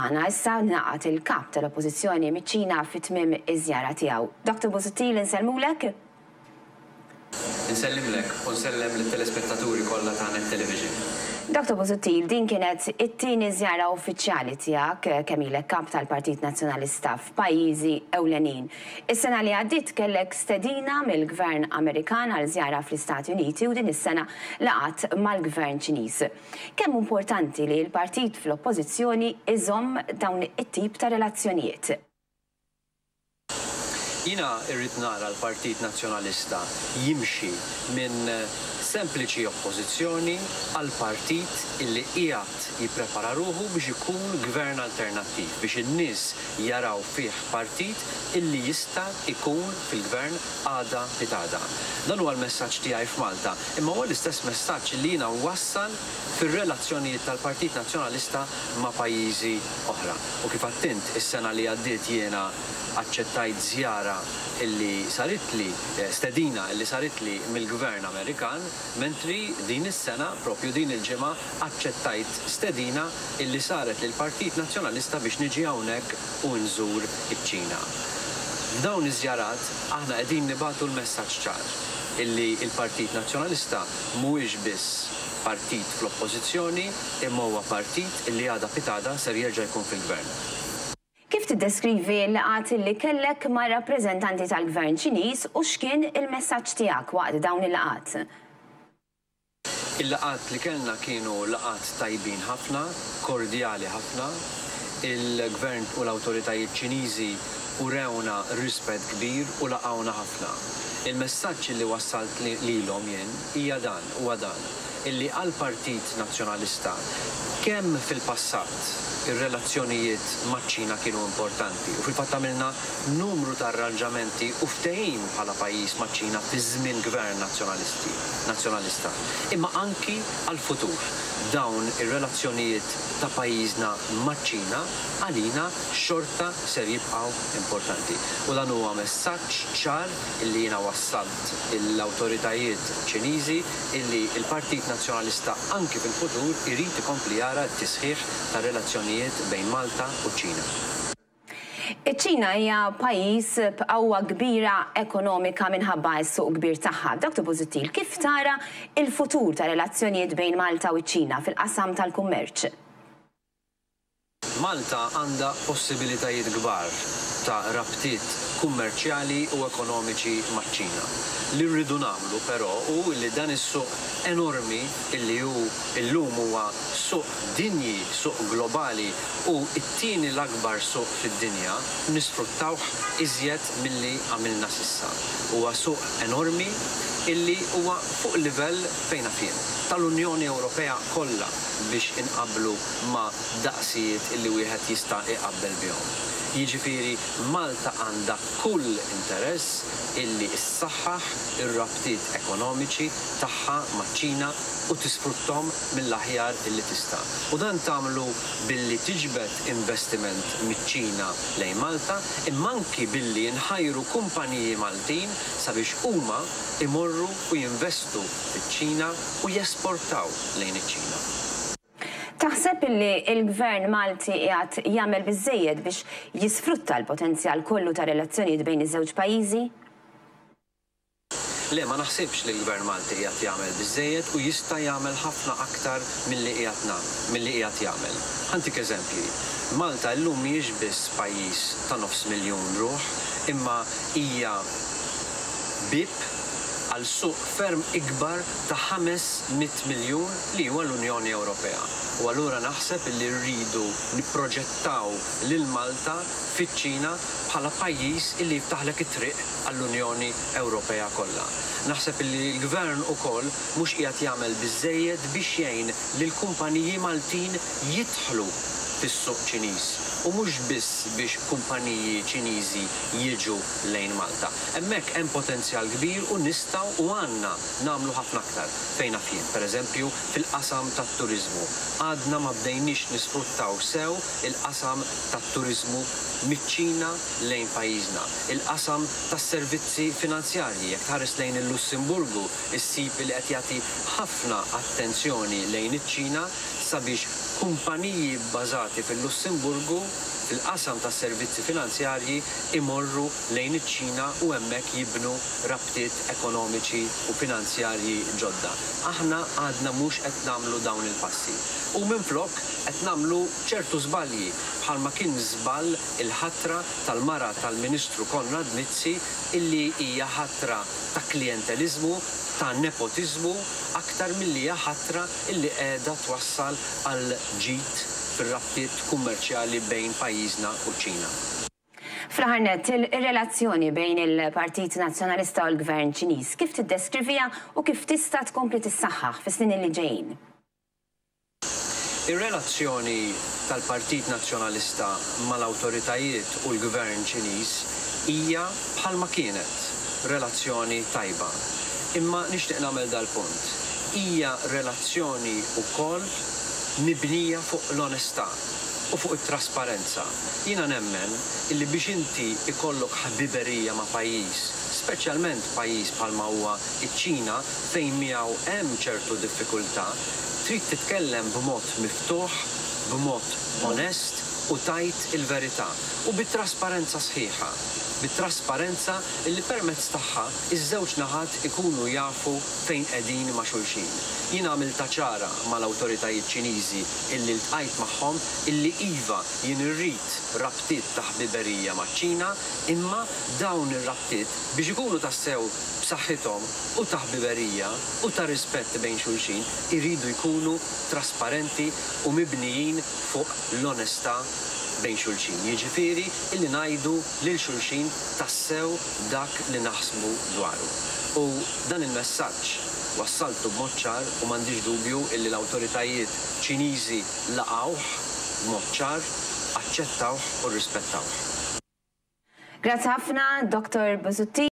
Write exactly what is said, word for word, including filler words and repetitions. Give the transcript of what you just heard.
Magħna issa ngħaqad il-kap tal-Oppożizzjoni miċ-Ċina fi tmiem iż-żjara tiegħu. Dottor Busuttil, insellmulek. Insellimlek u nsellem lit-telespettaturi kollha ta' Net Television. Dottor Busuttil, din kienet it-tieni żjara uffiċjali tiegħek kemm ilek kap tal-Partit Nazzjonalista f'pajjiżi ewlenin. Is-sena li għaddiet kellek stedina mill-Gvern Amerikan għal żjara fl-Istati Uniti u din is-sena ltqajt mal-Gvern Ċiniż. Kemm importanti li l-partit fl-Oppożizzjoni iżomm dawn it-tip ta' relazzjonijiet? Jiena rrid nara l-Partit Nazzjonalista jimxi minn sempliċi oppożizzjoni għal partit illi qiegħed jipprepara ruħu biex ikun gvern alternattiv, biex in-nies jaraw fih partit illi jista' ikun fil-gvern għada pitgħada. Dan huwa l-messaġġ tiegħi f'Malta, imma huwa l-istess messaġġ li jiena wassal fir-relazzjonijiet tal-Partit Nazzjonalista ma' pajjiżi oħra. U kif għedt, is-sena li għaddiet jiena aċċettajt żjara illi saritli, stedina illi saritli mill-Gvern Amerikan, mentri din is-sena, propju din il-ġimgħa, aċċettajt stedina illi saret lill-Partit Nazzjonalista biex niġi hawnhekk u nżur iċ-Ċina. F'dawn iż-żjarat aħna qegħdin nibagħtu l-messaġġ ċar illi l-Partit Nazzjonalista mhuwiex biss partit fl-oppożizzjoni, imma huwa partit illi għada pitgħada ser jerġa' jkun fil-gvern. Kif tiddeskrivi l-laqgħat li kellek ma' rappreżentanti tal-Gvern Ċiniż u x'kien il-messaġġ tiegħek waqt dawn il-laqgħat? Il-laqgħat li kellna kienu laqgħat tajbin ħafna, kordjali ħafna. Il-Gvern u l-awtoritajiet Ċiniżi urewna rispett kbir u laqgħuna ħafna. Il-messaġġ li wassalt lilhom jien hija dan, huwa dan, illi għall-Partit Nazzjonalista kemm fil-passat ir-relazzjonijiet maċ-Ċina kienu importanti u fil-fatt għamilna numru ta' arranġamenti u ftehim bħala pajjiż maċ-Ċina fi żmien gvern nazzjonalisti, nazzjonalista. Imma anki għal-futur dawn ir-relazzjonijiet ta' pajjiżna maċ-Ċina għalina xorta ser jibqgħu importanti. U dan huwa messaġġ ċar illi jiena wassalt l-awtoritajiet Ċiniżi illi l-Partit Nazzjonalista anki fil-futur irid ikompli jara t-tisħiħ ta' relazzjonijiet bejn Malta u ċ-Ċina. Iċ-Ċina hija pajjiż b'qawwa kbira ekonomika minħabba s-suq kbir tagħha. Dottor Busuttil, kif tara il-futur ta' relazzjonijiet bejn Malta u ċ-Ċina fil-qasam tal-kummerċ? Malta għandha possibilitajiet kbar ta' rabtiet kummerċjali u ekonomiċi maċ-Ċina. Li rridu nagħmlu però hu li dan is-suq enormi illi hu illum huwa suq dinji, suq globali u t-tieni l-akbar suq fid-dinja, nisfruttawh iżjed milli għamilna s'issa. Huwa suq enormi illi huwa fuq livell fejn jien tal-Unjoni Ewropea kollha biex inqablu ma' daqsijiet illi wieħed jista' iqabbel bihom. Jiġifieri Malta għandha kull interess illi ssaħħaħ ir-rabtiet ekonomiċi tagħha maċ-Ċina u tisfruttom mill-aħjar illi tista'. U dan tagħmlu billi tiġbed investiment miċ-Ċina lejn Malta, imma anki billi nħajru kumpaniji Maltin sabiex huma imorru u jinvestu fiċ-Ċina u jesportaw lejn iċ-Ċina. Taħseb illi il-Gvern Malti qiegħed jagħmel biżejjed biex jisfrutta l-potenzjal kollu ta' relazzjonijiet bejn iż-żewġ pajjiżi? Le, ma naħsibx li l-Gvern Malti qiegħed jagħmel biżejjed u jista' jagħmel ħafna aktar milli qiegħed milli qiegħed jagħmel. Ħa ntik eżempji. Malta llum mhijiex biss pajjiż ta' nofs miljun ruħ, imma hija bib għal suq ferm ikbar ta' ħames mitt miljun li huwa l-Unjoni Ewropea. U allura naħseb li rridu nipproġettaw lil Malta fiċ-Ċina bħala pajjiż illi jiftaħlek it-triq għall-Unjoni Ewropea kollha. Naħseb li l-Gvern ukoll mhux qiegħed jagħmel biżejjed biex jgħin lil kumpaniji Maltin jidħlu fis-suq Ċiniż u mhux biss biex kumpaniji Ċiniżi jiġu lejn Malta. Hemmhekk hemm potenzjal kbir u nistgħu u għandna nagħmlu ħafna aktar fejn naf jien. Pereżempju fil-qasam tat-turiżmu. Għadna ma bdejniex nisfruttaw sew il-qasam tat-turiżmu miċ-Ċina lejn pajjiżna. Il-qasam tas-servizzi finanzjarji, jekk tħares lejn il-Lussemburgu, issib li qed jagħti ħafna attenzjoni lejn iċ-Ċina sabiex kumpaniji bbażati fil-Lussemburgu fil-qasam tas servizzi finanzjarji imorru lejn iċ-Ċina u hemmhekk jibnu rabtiet ekonomiċi u finanzjarji ġodda. Aħna għadna mhux qed nagħmlu dawn il-passi. U minflok qed nagħmlu ċertu żbalji, bħalma kien żball il-ħatra tal-mara tal-Ministru Konrad Mizzi, illi hija ħatra ta' klientelizmu, ta' nepotiżmu, aktar milli hija ħatra illi qiegħda twassal għal ġid fir-rabtiet kummerċjali bejn pajjiżna u ċ-Ċina. Fl-aħħar nett, ir-relazzjoni bejn il-Partit Nazzjonalista u l-Gvern Ċiniż kif tiddeskriviha u kif tista' tkompli tissaħħaħ fis-snin li ġejjin? Ir-relazzjoni tal-Partit Nazzjonalista mal-awtoritajiet u l-Gvern Ċiniż hija bħalma kienet, relazzjoni tajba. Imma nixtieq nagħmel dal-punt. Hija relazzjoni wkoll mibnija fuq l-onestà u fuq it-trasparenza. Jiena nemmen illi biex inti ikollok ħbiberija ma' pajjiż, speċjalment pajjiż bħalma huwa iċ-Ċina fejn miegħu hemm ċertu diffikultà, trid titkellem b'mod miftuħ, b'mod onest u tajt il-verità u bit-trasparenza sħiħa. Bit-trasparenza illi permezz tagħha iż-żewġ naħat ikunu jafu fejn qegħdin ma' xulxin. Jiena għamilta ċara mal-awtoritajiet Ċiniżi illi ltqajt magħhom illi iva jien irrid rabtiet ta' ħbiberija maċ-Ċina, imma dawn ir-rabtiet biex ikunu tassew b'saħħithom u ta' ħbiberija u ta' rispett bejn xulxin iridu jkunu trasparenti u mibnijin fuq l-onestà bejn xulxin. Jiġifieri illi ngħidu lil xulxin tassew dak li naħsbu dwaru. U dan il-messaġġ wassaltu b'mod ċar u m'għandix dubju illi l-awtoritajiet Ċiniżi laqgħuh b'mod ċar, aċċettawh u rrispettawh. Grazzi ħafna, Doktor Busuttil.